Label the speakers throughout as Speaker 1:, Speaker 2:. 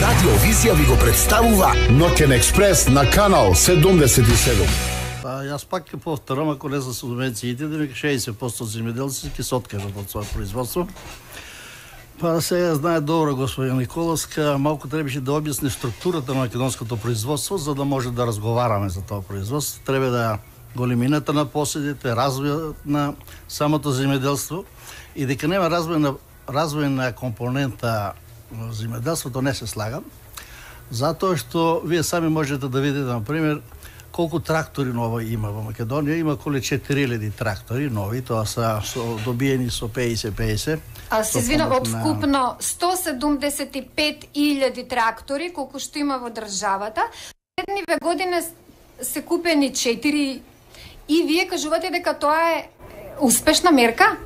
Speaker 1: Радиовизија ви го представува Ноќен експрес на канал 77.
Speaker 2: Јас пак ќе повторам, ако не за субвенциите, да ми 60% земјоделци ќе се откажат од своје производство. Сега знае добро господин Николовска, малку требаше да објасни структурата на македонското производство, за да може да разговараме за тоа производство. Треба да големината на поседите, развојот на самото земјоделство и дека нема развојна компонента во земјоделството не се слагам, затоа што вие сами можете да видите, например, колку трактори нови има во Македонија. Има околу 4000 трактори нови, тоа се добиени со 50-50.
Speaker 3: А се извинам, од вкупно 175.000 трактори, колку што има во државата, следниве години се купени 4 и вие кажувате дека тоа е успешна мерка?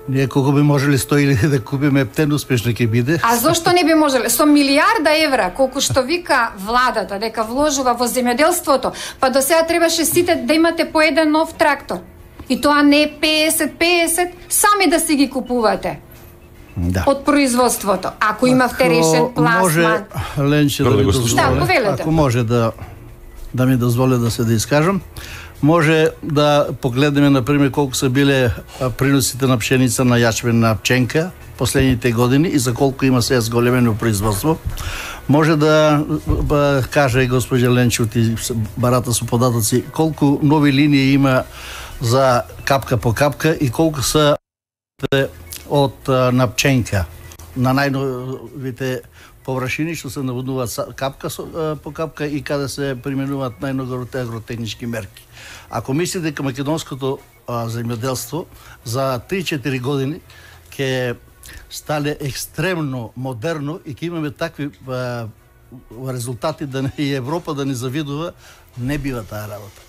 Speaker 2: Ние колку би можеле 100.000 да купиме, ептен успешно ќе биде.
Speaker 3: А зошто не би можеле? Со милиарда евра, колку што вика владата дека вложува во земјоделството, па до сега требаше сите да имате по еден нов трактор. И тоа не е 50-50, сами да си ги купувате.
Speaker 2: Да.
Speaker 3: Од производството. Ако имавте решен пласман.
Speaker 2: Може, Ленче, да ми дозволи, ако може да ми дозволи да се да искажам, може да погледнеме, например, колку се биле приносите на пшеница, на јачмен, на пченка последните години и за колку има сега зголемено производство. Може да каже госпожа Ленче, барата со податоци, колку нови линии има за капка по капка и колку се од на пченка на најновите површини што се наводнуваат капка по капка и каде се применуваат најногорите агротехнички мерки. Ако мислите дека македонското земјоделство за 3-4 години ќе стане екстремно модерно и ќе имаме такви резултати да и Европа да ни завидува, не бива таа работа.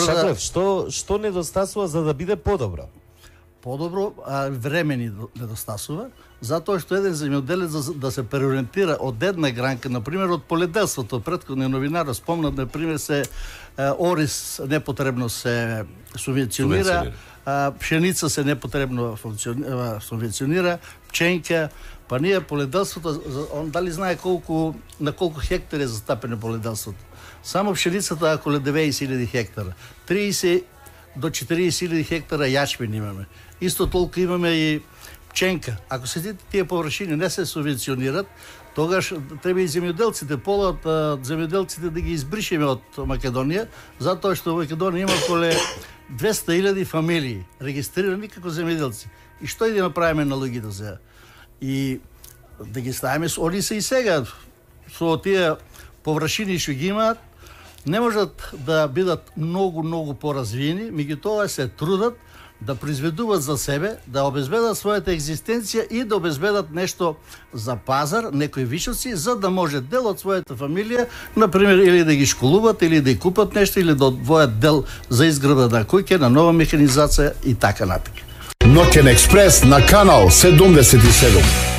Speaker 4: Шаклев, што недостасува за да биде подобро?
Speaker 2: Подобро, време ни недостасува, затоа што еден земјоделец да се преориентира од една гранка, например од поледелството. Претходниот новинар спомна, например, орис непотребно се субвенционира, пшеница се непотребно субвенционира, пченка, па ние поледелството, он дали знае на колку хектари е застапено поледелството. Само пшеницата е околу 90.000 хектара. 30 до 40.000 хектара јачмен имаме. Исто толку имаме и пченка. Ако се тие површини не се субвенционират, тогаш треба и земјоделците, полот земјоделците да ги избришеме од Македонија, затоа што во Македонија има околу 200.000 фамилии регистрирани како земјоделци. И што да направиме на луѓето сега? И да ги ставиме, они се и сега со тие површини што ги имаат, не можат да бидат многу поразвиени, меѓутоа се трудат да произведуваат за себе, да обезбедат својата екзистенција и да обезбедат нешто за пазар, некои вишоци, за да може дел од својата фамилија, например, или да ги школуват, или да ги купат нешто, или да одвојат дел за изграда на куќа, на нова механизација и така натаму.
Speaker 1: Ноќен експрес на канал 77.